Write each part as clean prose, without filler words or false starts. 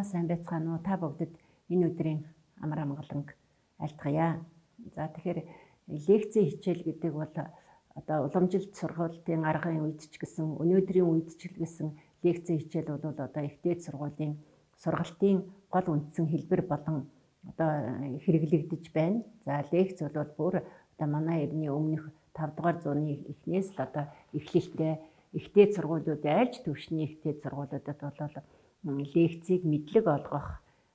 сайн байцгаана уу? Та бүгдд энэ өдрийн амар амгаланг айлтгая. За тэгэхээр лекцийн хичээл гэдэг бол одоо уламжилт сургуулийн аргын үед ч гэсэн өнөөдрийн үед ч гэсэн лекцийн хичээл бол одоо их дээд сургуулийн сургалтын гол үндсэн хэлбэр болон одоо хэрэглэгдэж байна. За лекц бол бүр одоо манай эртний өмнөх 5 дугаар зууны эхнээс л одоо эхлэлтэй их дээд сургуулиуд айлч төвшний их дээд сургуулиудад бол лекцийг мэдлэг олгох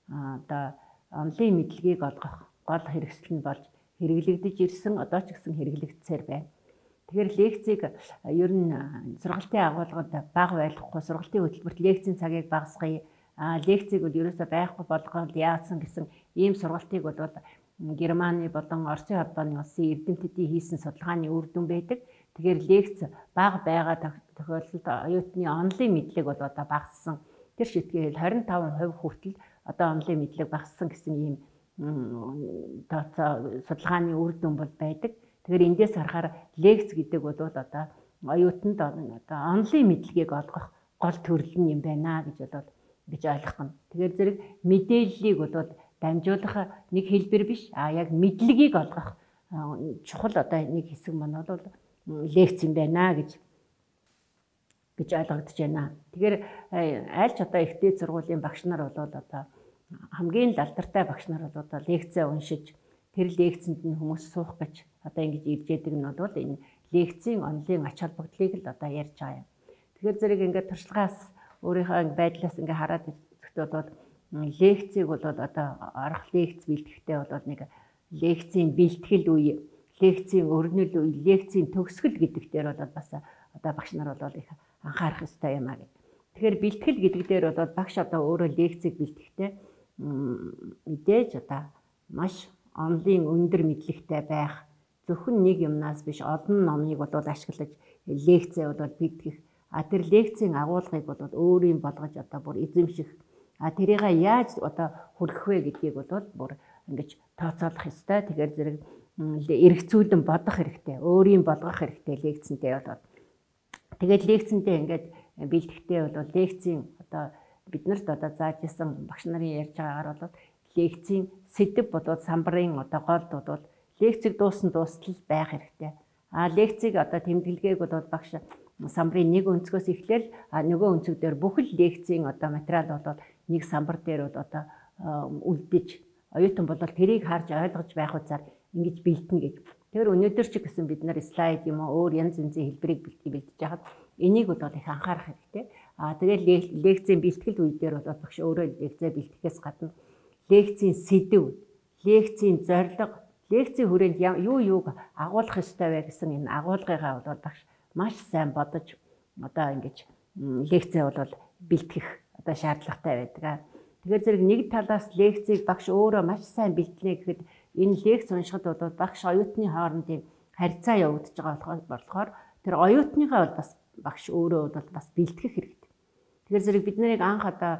одоо онлын мэдлэгийг олгох гол хэрэгсэл нь болж хэрэглэгдэж ирсэн, одоо ч гэсэн хэрэглэгдсээр байна. Тэгэхээр лекцийг ер нь сургалтын агуулгад бага байлгахгүй, сургалтын хөтөлбөрт лекцийн цагийг багасгая. Лекцийг бол ерөөсөө байхгүй болгоод яасан гэсэн ийм сургалтыг бол Германы болон Оросын холбооны улсын эрдэмтдийн хийсэн судалгааны үр дүн байдаг. Тэгэхээр лекц бага байгаа тохиолдолд оюутны онлын мэдлэг бол одоо багассан. Тэр шийдгээр 25% хүртэл одоо онлын мэдлэг багассан гэсэн ийм судалгааны үр дүн бол байдаг. Тэгэхээр эндээс харахаар лекц гэдэг бол одоо оюутанд одоо онлын мэдлэгийг олгох гол төрөл нь юм байна гэж ойлгох нь. Тэгэхээр зэрэг мэдээллийг бол дамжуулах нэг хэлбэр биш, яг мэдлэгийг олгох чухал одоо нэг хэсэг маань бол лекц юм байна гэж ойлгогдож байна. Тэгэхээр аль ч одоо их дээд сургуулийн багш нар бол одоо хамгийн алдартай багш нар бол одоо лекцээ уншиж тэр лекцэнд нь хүмүүс суух гэж одоо ингэж ирж яадаг нь бол энэ лекцийн онлын ач холбогдлыг л одоо ярьж байгаа юм. Тэгэхээр зэрэг ингээд туршлагаас өөрийнхөө байдлаас ингээд хараад ирэхэд бол лекцийг бол одоо арга лекц бэлтгэхдээ бол нэг лекцийн бэлтгэл үе, лекцийн өрнөл үе, лекцийн төгсгөл гэдэг дээр бол бас одоо багш нар бол их анхаарах ёстой юм аа. Тэгэхээр бэлтгэл гэдэг дээр бол багш одоо өөрөө лекцийг бэлтгэхдээ мэдээж одоо маш онлын өндөр мэдлэгтэй байх, зөвхөн нэг юмнаас биш олон номыг бол ашиглаж лекцээ бол бэлтгэх. Тэр лекцийн агуулгыг бол өөрийн болгож одоо бүр эзэмших. Тэрийг яаж одоо хүргэх вэ гэдгийг бол бүр ингэж тооцоолох ёстой. Тэгэхээр зэрэг эргцүүлэн бодох хэрэгтэй, өөрийн болгох хэрэгтэй лекцэнтэй бол. Тэгээд лекцэнтэй ингээд бэлтгэхдээ бол лекцийн одоо биднэрт одоо зааж исэн багш нарын ярьж байгаагаар бол лекцийн сэдэв бодоод самбарын одоо голд бол лекцийг дуустал байх хэрэгтэй. Лекцийг одоо тэмдэглэгээг бол багш самбарын нэг өнцгөөс эхлээл нөгөө өнцөг дээр бүхэл лекцийн одоо материал бол нэг самбар дээр бол одоо үлдэж оюутан бол тэрийг харж ойлгож байх үзаар ингэж бэлтэнэ гэж. Тэгэхээр өнөөдөр ч гэсэн бид нар слайд юм уу өөр янз янзын хэлбэрийг бэлтэж байхад энийг бол их анхаарах хэрэгтэй. Тэгээд лекцийн бэлтгэл үе дээр бол багш өөрөө лекцээ бэлтгэхээс гадна лекцийн сэдэв, лекцийн зорилго, лекцийн хүрээнд юу юуг агуулах ёстой вэ гэсэн энэ агуулгыгаа бол багш маш сайн бодож одоо ингэж лекцээ бол бэлтгэх одоо шаардлагатай байдаг. Тэгэхээр зэрэг нэг талаас лекцийг багш өөрөө маш сайн бэлтэнэ гэхэд энэ лекц уншихад бол багш оюутны хоорондын харьцаа явагдаж байгаа болохоор тэр оюутныгаа бол бас багш өөрөө бол бас бэлтгэх хэрэгтэй. Тэгэхээр зэрэг бид нарыг анх одоо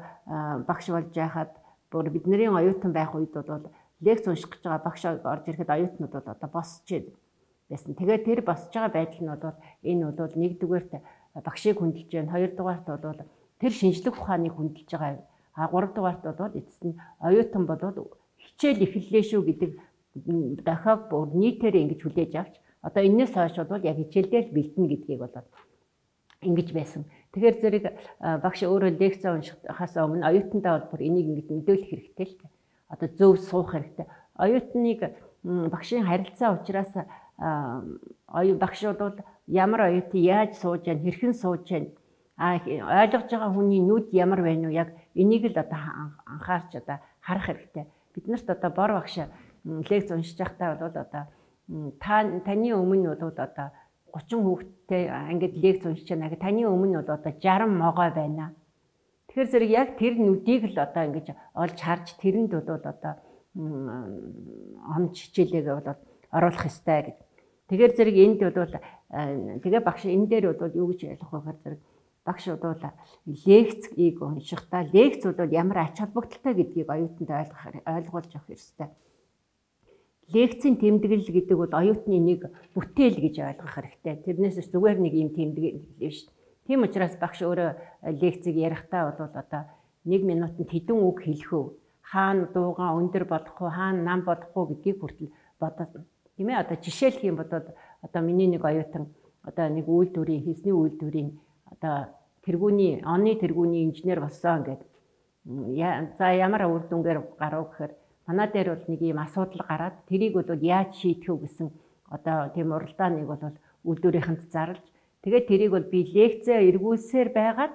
багш болж байхад бүр бидний оюутан байх үед бол лекц унших гэж байгаа багш орж ирэхэд оюутнууд бол одоо босч байсан. Тэгээд тэр босч байгаа байдал нь бол энэ бол нэгдүгээрт багшийг хүндэлж байна, хоёрдугаарт бол тэр шинжлэх ухааныг хүндэлж байгаа. Гуравдугаарт бол эцэст нь оюутан болоод хичээл эхэллээ шүү гэдэг дахиад бүр нийтээр ингэж хүлээж авч одоо энэс хойш бол яг хичээлдээ л бэлтэнэ гэдгийг бол ингэж байсан. Тэгэхээр зэрэг багш өөрөө лекцээ уншихаас өмнө оюутандаа бол бүр энийг ингэж мэдүүлэх хэрэгтэй л дээ. Одоо зөв суух хэрэгтэй. Оюутныг багшийн харилцаа учраас багш бол ямар оюутан яаж сууж байна, хэрхэн сууж байна, ойлгож байгаа хүний нүд ямар байна уу, яг энийг л одоо анхаарч одоо харах хэрэгтэй. Биднэрт одоо бор багш лекц уншиж байхдаа бол одоо таны өмнө бол одоо 30 хүүхэдтэй ангид лекц уншиж байна. Таны өмнө бол одоо 60 могой байна. Тэгэхээр зэрэг яг тэр нүдийг л одоо ингэж олж харж тэрэнд бол одоо онц хичээлээ бол оруулах ёстой гэж. Тэгэхээр зэрэг энд бол тэгээ багш энэ дээр бол юу гэж ойлгох вэ гэхээр зэрэг багш бол лекцийг уншихдаа лекц бол ямар ач холбогдолтой гэдгийг оюутанд ойлгуулж авах ёстой. Лекцийн тэмдэглэл гэдэг бол оюутны нэг бүтээл гэж ойлгох хэрэгтэй. Тэрнээс зүгээр нэг юм тэмдэглэл биш. Тийм учраас багш өөрөө лекцийг ярихдаа бол одоо 1 минутанд хэдэн үг хэлэх үү? Хаана дуугаа өндөр болох уу, хаана нам болох уу гэдгийг хүртэл бодоод. Тийм ээ, одоо жишээлх юм бодоод одоо миний нэг оюутан одоо нэг үйлдвэрийн хийсний үйлдвэрийн одоо оны тэргүүний инженер болсон гэдэг. За ямар үр дүнгээр гарав гэхээр манай дээр бол нэг юм асуудал гараад тэрийг бол яаж шийдэх үү гэсэн одоо тийм уралдааныг бол үйлдвэрийнхэнд зарлж тэгээд тэрийг бол би лекцээ эргүүлсээр байгаад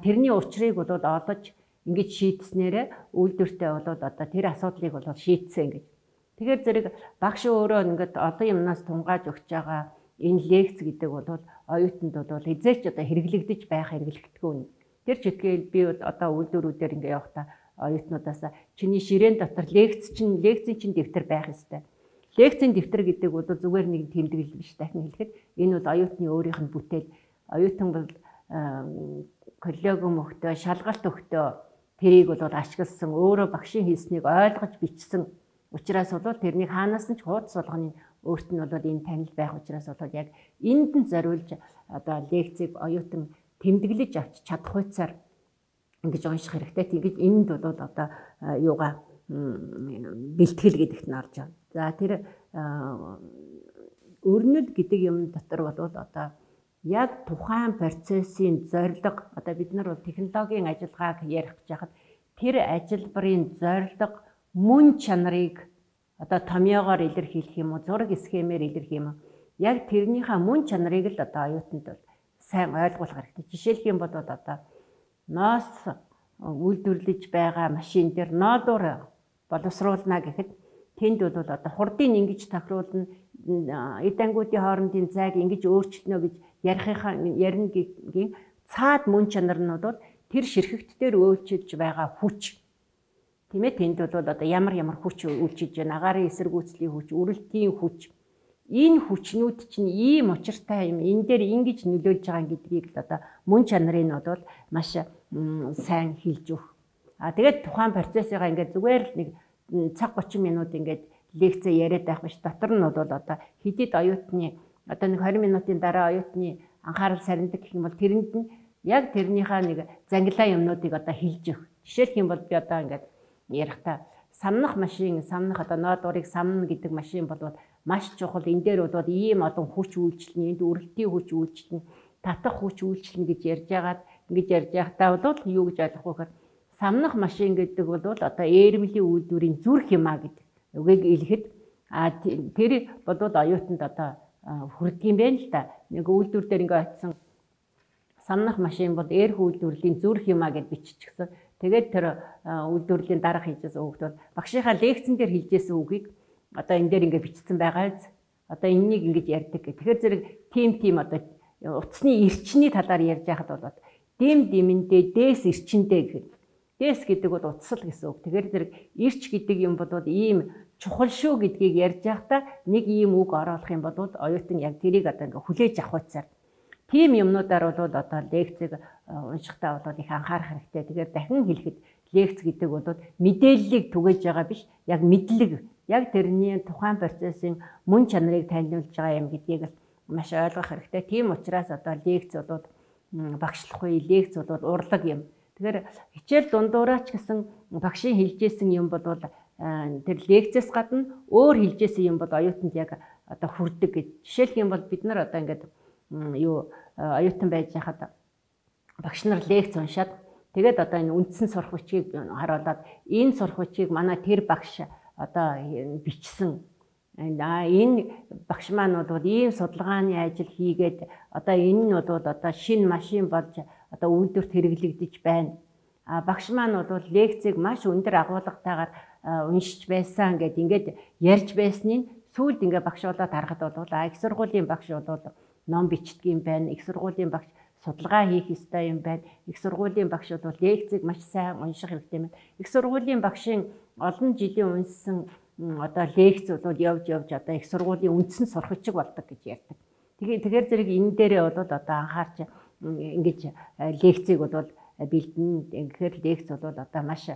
тэрний учрыг бол олж ингэж шийдснээрээ үйлдвэртээ бол одоо тэр асуудлыг бол шийдсэн гэж. Тэгэхээр зэрэг багш өөрөө ингээд олон юмнаас тунгааж өгч байгаа энэ лекц гэдэг бол оюутанд бол эзээч одоо хэрэглэгдэж байх хэрэглэгдэхгүй. Тэр чигээр би одоо үйлдвэрүүдээр ингээ явахдаа оюутнуудаас чиний ширээн дотор лекцийн чинь дэвтэр байх ёстой. Лекцийн дэвтэр гэдэг бол зүгээр нэг тэмдэглэл биш, дахин хэлэхэд энэ бол оюутны өөрийнх нь бүтээл. Оюутан бол коллеги мөхтөө шалгалт өгтөө тэрийг бол ашигласан өөрөө багшийн хийснийг ойлгож бичсэн учраас бол тэрнийг хаанаас нь ч хуудас болгоны өөрт нь бол энэ танил байх учраас бол яг энд нь зориулж одоо лекцийг оюутан тэмдэглэж авч чадах хуйцаар ингэж унших хэрэгтэй. Тэгэж энд бол одоо юугаа бэлтгэл гэдэгт нь орж байна. За тэр өрнөл гэдэг юм дотор бол одоо яг тухайн процессын зорилго одоо бид нар бол технологийн ажиллагааг ярих гэж хахад тэр ажилбарын зорилго мөн чанарыг одоо томьёогоор илэрхийлэх юм уу, зураг схемээр илэрхийлэх юм уу? Яг тэрнийхээ мөн чанарыг л одоо оюутанд бол сайн ойлгуулах хэрэгтэй. Жишээлх юм бол одоо ноос үйлдвэрлэж байгаа машин дээр ноодоор боловсруулна гэхэд тэнд бол одоо хурдыг ингэж тохируулна, эд ангуудын хоорондын зайг ингэж өөрчлөнө гэж ярихын цаад мөн чанар нь бол тэр ширхэгт дээр үйлчилж байгаа хүч. Тийм ээ, тэнд бол одоо ямар хүч үйлчилж байна? Агаарын эсэргүүцлийн хүч, үрэлтийн хүч. Энэ хүчнүүд чинь ийм учиртай юм. Энэ дээр ингэж нөлөөлж байгаа гэдгийг л одоо мөн чанарыг нь бол маш сайн хэлж өгөх. Тэгээд тухайн процессыгаа ингээд зүгээр л нэг цаг 30 минут ингээд лекцээ яриад байх биш. Дотор нь бол одоо хэдийд оюутны одоо нэг 20 минутын дараа оюутны анхаарал сарндаг гэх юм бол тэрэнд нь яг тэрнийхээ нэг зангилаа юмнуудыг одоо хэлж өгөх. Жишээлх юм бол би одоо ингээд ярихдаа самнах одоо ноодурыг самна гэдэг машин бол маш чухал. Энэ дээр бол ийм олон хүч үйлчлэнэ, энд үрэлтийн хүч үйлчлэнэ, татах хүч үйлчлэнэ гэж ярьж байхдаа бол юу гэж ойлгох вэ гэхээр самнах машин гэдэг бол одоо эрмлийн үйлдвэрийн зүрх юмаа гэдэг үгийг илэхэд тэр бол оюутанд одоо хүрдэг юм байна л да. Нэг үйлдвэр дээр ингээ очисон самнах машин бол эрх үйлдвэрлэлийн зүрх юмаа гэж биччихсэн. Тэгээд тэр үйлдвэрлэлийн дарга хийжсэн үгд бол багшийнхаа лекцэн дээр хэлжсэн үгийг одоо энэ дээр ингээ бичсэн байгаа. Одоо энэнийг ингэж ярьдаг гэх. Тэгэхээр зэрэг тим одоо утасны эрчний талаар ярьж байхад бол дэмэндээ дээс эрчэндээ гэхэд дээс гэдэг бол утасл гэсэн үг. Тэгэхээр зэрэг эрч гэдэг юм бол ийм чухал шүү гэдгийг ярьж байхдаа нэг ийм үг оруулах юм бол оюутан яг тэрийг одоо ингээ хүлээж авах хуйцаар тийм юмнуудаар бол одоо лекцийг уншихтаа бол их анхаарах хэрэгтэй. Тэгэхээр дахин хэлэхэд лекц гэдэг бол мэдээллийг түгээж байгаа биш, яг мэдлэг, яг тэрний тухайн процессын мөн чанарыг танилцуулж байгаа юм гэдгийг маш ойлгох хэрэгтэй. Тийм учраас одоо лекц бол багшлахгүй, лекц бол урлаг юм. Тэгэхээр хичээл дундуураач гэсэн багшийн хэлжсэн юм бол тэр лекцээс гадна өөр хэлжсэн юм бол оюутанд яг одоо хүрдэг гэж. Жишээлх юм бол бид нар одоо ингээд оюутан байж хахад багш нар лекц уншаад тэгээд одоо энэ үндсэн сурах бичгийг харуулад энэ сурах бичгийг манай тэр багш одоо бичсэн. Энэ багш маань бол ийм судалгааны ажил хийгээд одоо энэ нь бол одоо шинэ машин болж одоо үйлдвэрт хэрэглэгдэж байна. Багш маань бол лекцийг маш өндөр агуулгатайгаар уншиж байсан ингээд ярьж байсныг сүүлд ингээд багш болоод харахад бол их сургуулийн багш бол ном бичдэг юм байна. Их сургуулийн багш судалгаа хийх ёстой юм байна. Их сургуулийн багш бол лекцийг маш сайн унших хэрэгтэй юм. Их сургуулийн багшийн олон жилийн уншсан одоо лекц бол явж одоо их сургуулийн үндсэн сурагчиг болдог гэж ярьдаг. Тэгэхээр зэрэг энэ дээрээ бол одоо анхаарч ингэж лекцийг бол бэлдэн. Тэгэхээр лекц бол одоо маш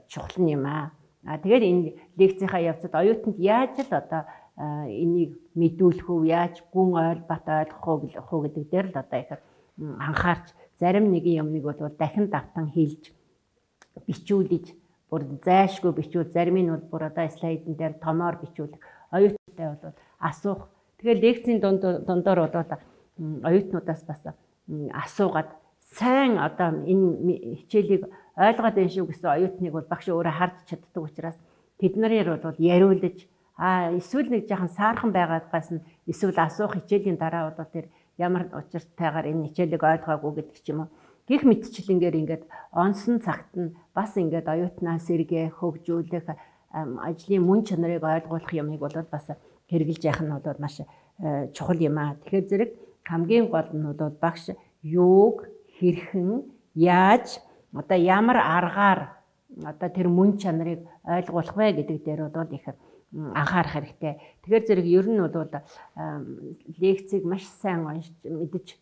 чухал юм аа. Тэгээд энэ лекцийнхаа явцад оюутанд яаж л одоо энийг мэдүүлэх үү, яаж гүн бат ойлгох уу гэдэг дээр л одоо их анхаарч зарим нэг юмыг бол дахин давтан хэлж бичүүлж бүр зайшгүй бичүүл, зарим нь бол бүр одоо слайдн дээр томоор бичүүлэх, оюутнуудтай бол асуух. Тэгэхээр лекцийн дундор бол оюутнуудаас бас асуугаад сайн одоо энэ хичээлийг ойлгоод байна шүү гэсэн оюутныг бол багш өөрөө харж чаддаг учраас тэд нарыг бол яриулж эсвэл нэг жоохон саархан байгаадгаас нь эсвэл асуух хичээлийн дараа бол тэр ямар учиртайгаар энэ хичээлийг ойлгоогүй гэдэг ч юм уу. Гэх мэтчлэнгээр ингээд онсон цагт нь бас ингээд оюутнаа сэргээх, хөгжүүлэх, ажлын мөн чанарыг ойлгуулах юмыг бол бас хэрэгжилж явах нь бол маш чухал юм аа. Тэгэхээр зэрэг хамгийн гол нь бол багш юуг хэрхэн яаж одоо ямар аргаар одоо тэр мөн чанарыг ойлгуулах вэ гэдэг дээр бол их анхаарах хэрэгтэй. Тэгэхээр зэрэг ер нь бол лекцийг маш сайн уншиж мэдж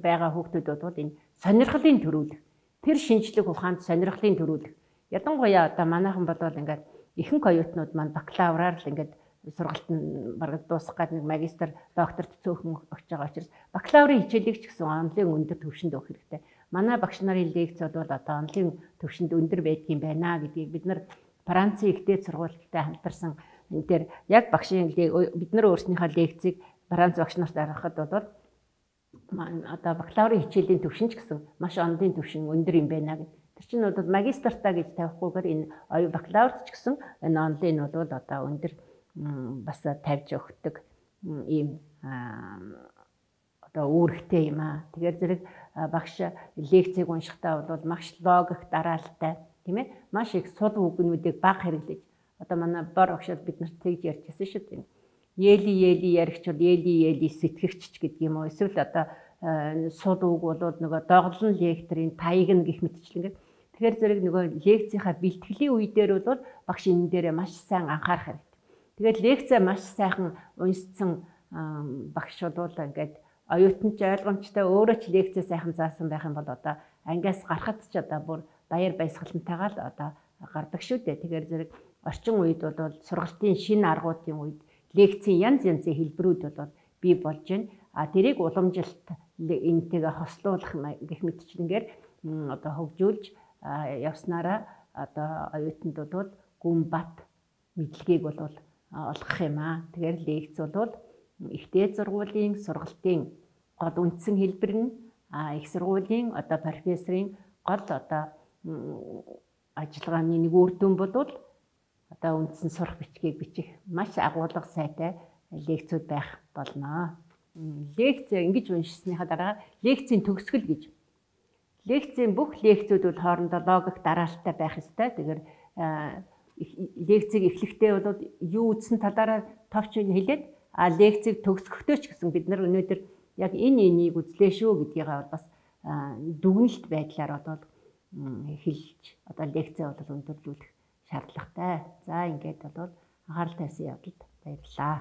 байгаа хүүхдүүд бол энэ сонирхлын төрүүлэх, тэр шинжлэх ухаанд сонирхлын төрүүлэх. Ядангуяа одоо манайхан бодвол ингээд ихэнх оюутнууд маань бакалавраар л ингээд сургалт нь бараг дуусах гээд нэг магистр, докторт цөөхөн өгч байгаа учраас бакалаврын хичээлийг ч гэсэн онлын өндөр түвшинд өгөх хэрэгтэй. Манай багш нарын лекц бол одоо онлын түвшинд өндөр байдгийн байна гэдгийг бид нар Францын ихтэй сургуультай хамтарсан энэ дээр яг багшийн бид нар өөрснийхөө лекцийг Франц багш нарт аргахад бол одоо бакалаврын хичээлийн түвшин ч гэсэн маш онлын түвшин өндөр юм байна гэдэг. Тэр чинь бол магистртаа гэж тавихгүйгээр энэ бакалаврт ч гэсэн энэ онлын бол одоо өндөр бас тавьж өгдөг ийм одоо үүрэгтэй юм аа. Тэгэхээр зэрэг багш лекцийг уншихтаа бол маш логик дараалалтай тийм ээ. Маш их сул үгнүүдийг бага хэрэглэж одоо манай бор багшд бид нарт тэгж ярьчихсан шүү дээ. Ели яригч бол ели сэтгэгч гэдэг юм уу. Эсвэл одоо сул үг бол нөгөө доглон лекторын таяг нь гих мэтчлэн. Тэгэхээр зэрэг нөгөө лекцийнхаа бэлтгэлийн үе дээр бол багш энэ дээрээ маш сайн анхаарах хэрэгтэй. Тэгээд лекцээ маш сайхан уншсан багш бол ингээд оюутан ч ойлгомжтой өөрөө ч лекцээ сайхан заасан байх юм бол одоо ангиас гарахад ч одоо бүр баяр баясгалантайгаа л одоо гардаг шүү дээ. Тэгэхээр зэрэг орчин үед бол сургалтын шинэ аргуудын үед лекцийн янз янзын хэлбэрүүд бол бий болж байна. Тэрийг уламжилт энтэйгээ хослуулах гэх мэтчлэнгээр одоо хөгжүүлж явснараа одоо оюутанд бол гүн бат мэдлэгийг бол олгох юм аа. Тэгэхээр лекц бол ихтэй сургуулийн сургалтын гол үндсэн хэлбэр нь их сургуулийн одоо профессорын гол одоо ажиллагааны нэг үр дүн бол одоо үндсэн сурах бичгийг бичих маш агуулга сайтай лекцүүд байх болно. Лекц ингэж уншсныхаа дараа лекцийн төгсгөл гэж. Лекцийн бүх лекцүүд бол хоорондоо логик дараалалтай байх ёстой. Тэгэхээр лекцийг эхлэхдээ бол юу үзсэн талаараа товч хэлээд лекцийг төгсгөхдөө ч гэсэн бид нар өнөөдөр яг энийг үзлээ шүү гэдгийг бас дүгнэлт байдлаар одоо хэлж одоо лекцээ бол өндөрлүүлэх шаардлагатай. За ингээд бол анхаарал тавьсан явдалд баярлалаа.